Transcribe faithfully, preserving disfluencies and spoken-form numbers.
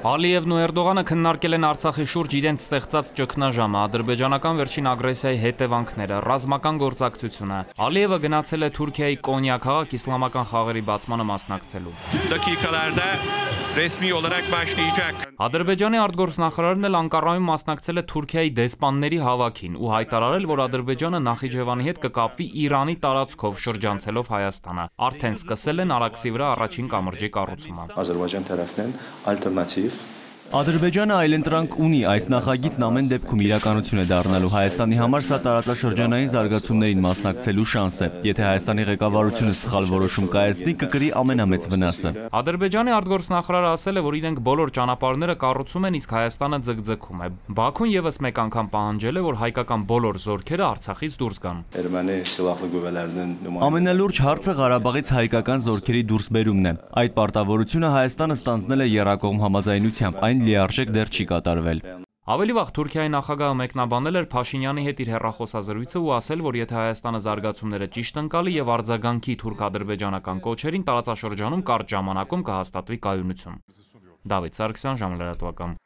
Ալիևն ու Էրդողանը քննարկել են Արցախի շուրջ իրենց ստեղծած ճգնաժամը, ադրբեջանական վերջին ագրեսիայի հետևանքները, ռազմական գործակցությունը։ Ալիևը գնացել է Թուրքիայի Կոնյա քաղաք իսլամական խաղերի բացմանը մասնակցելու։ Ադրբեջանի արտգործնախարարն էլ Անկարայում մասնակցել է Թուրքիայի դեսպանների հավաքին ու հայտարարել, որ Ադրբեջանը Նախիջևանի հետ կկապվի Իրանի տարածքով շրջանցելով Հայաստանը։ Արդեն սկսել են Արաքսի վրա առաջին կամրջի կառուցումը։ Ադրբեջան տարածքն ալտերնատիվ Ադրբեջանը այլընտրանք ունի, այս նախագիծն ամեն դեպքում իրականություն է դառնալու։ Հայաստանի համար սա տարածաշրջանային զարգացումներին մասնակցելու շանս է։ Եթե Հայաստանի ղեկավարությունը սխալ որոշում կայացնի, կկրի ամենամեծ վնասը։ Ադրբեջանի արտգործնախարարը ասել է, որ իրենք բոլոր ճանապարհները կառուցում են, իսկ Հայաստանը ձգձգում է։ Բաքուն եւս մեկ անգամ պահանջել է, որ հայկական բոլոր զորքերը Արցախից դուրս գան։ Ամենալուրջ հարցը Ղարաբաղից հայկական զորքերի դուրսբերումն է։ Այդ պարտավորությունը Հայաստանը ստանձնել է եռակողմ համաձայնությամբ, այն լիարժեք դեռ չի կատարվել։ Ավելի վաղ Թուրքիայի նախագահը մեկնաբանել էր Փաշինյանի հետ իր հեռախոսազրույցը ու ասել, որ եթե Հայաստանը զարգացումները ճիշտ ընկալի եւ արձագանքի թուրք-ադրբեջանական կոչերին, տարածաշրջանում կարճ ժամանակում կհաստատվի կայունություն։ Դավիթ Սարգսյան, Ժամանակ լրատվական։